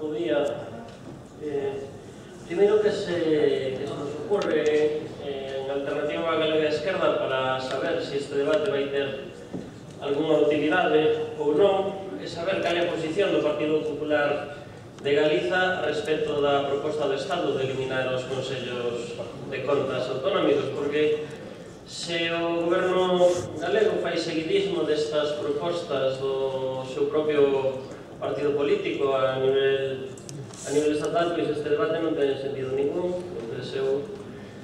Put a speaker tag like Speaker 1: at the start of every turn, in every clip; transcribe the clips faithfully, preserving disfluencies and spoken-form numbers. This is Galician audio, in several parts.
Speaker 1: bo día. Eh, primeiro que se, que se nos ocurre eh, en Alternativa Galega Esquerda para saber se este debate vai ter algunha utilidade ou non, é saber cal é a posición do Partido Popular de Galiza respecto da proposta do Estado de eliminar os consellos de contas autonómicos, porque se o goberno galego fai seguidismo destas propostas do seu propio partido político a nivel, a nivel estatal, pois este debate non ten sentido ningún. Entón eu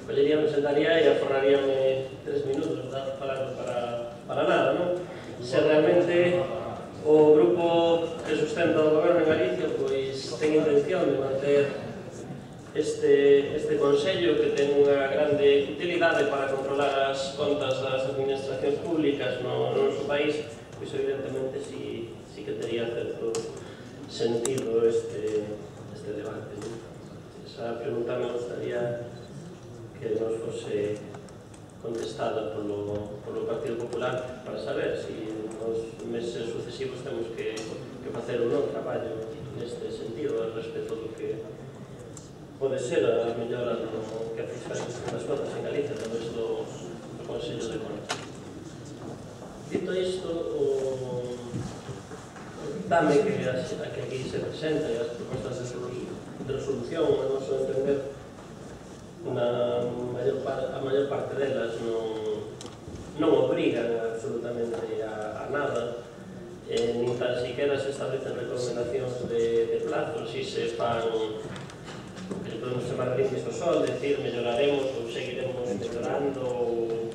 Speaker 1: collería, me sentaría e aforraríame tres minutos falando para, para nada, non? Se realmente o grupo que sustenta o goberno en Galicia pois ten intención de manter este, este Consello que ten unha grande utilidade para controlar as contas das administracións públicas no, no noso país, pois evidentemente si, si que tería certo sentido este, este debate. Esa pregunta me gustaría que nos fose contestada polo, polo Partido Popular para saber si nos meses sucesivos temos que, que facer un non traballo neste sentido respecto do que pode ser a mellora do que a fiscalización das contas en Galicia a través do, do Consello de Contas. Dito isto, o dame que, as, a que aquí se presenta e as propostas de, de resolución, a noso entender, na maior par, a maior parte delas non, non obrigan absolutamente a, a nada, eh, nin tan siquiera se establecen recomendacións de, de plazos, si se fan que se podemos chamar brindis ao sol, decir, melloraremos ou seguiremos mellorando ou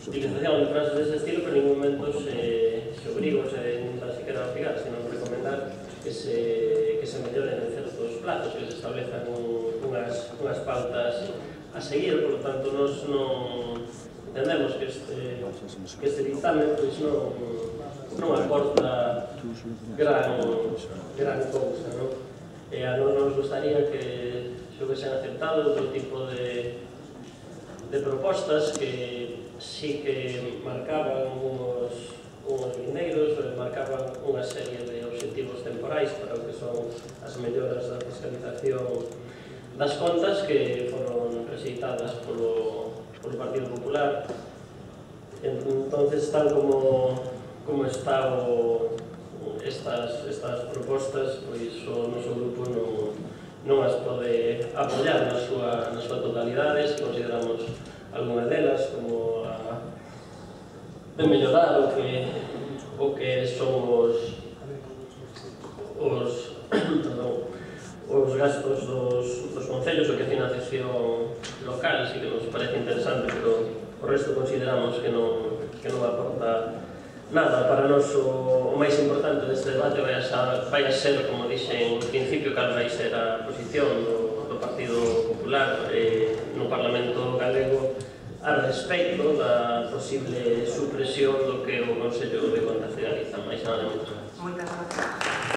Speaker 1: utilización de frases dese estilo, pero en ningún momento se, se obriga, se nin tan siquiera obrigar, sino recomendar que se, que se melloren en certos plazos, que se establezan unhas, unhas pautas a seguir. Por lo tanto, nos non entendemos que este, que este dictamen pois non, non aporta gran, gran cousa, non? E a non nos gustaría que se houvesen aceptado outro tipo de, de propostas que sí que marcaban unos, unos lindeiros, marcaban unha serie de obxectivos temporais para o que son as melloras da fiscalización das contas que foron rexeitadas polo, polo Partido Popular. Entonces, tal como, como está o, estas, estas propostas, pois o noso grupo non, non as pode apoiar na súa, na súa totalidade. Se consideramos algunha delas como a de mellorar o que, o que son os, os, perdón, os gastos dos, dos concellos, o que é financiación local, así que nos parece interesante, pero o resto consideramos que non, que non aporta nada. Para nós o, o máis importante deste debate vai a, vai a ser, como dixen en principio, cal vai ser a posición do, do Partido Popular eh, no Parlamento galego a respecto da posible supresión do que o Consello de Contas de Galiza. Mais nada, moitas gracias.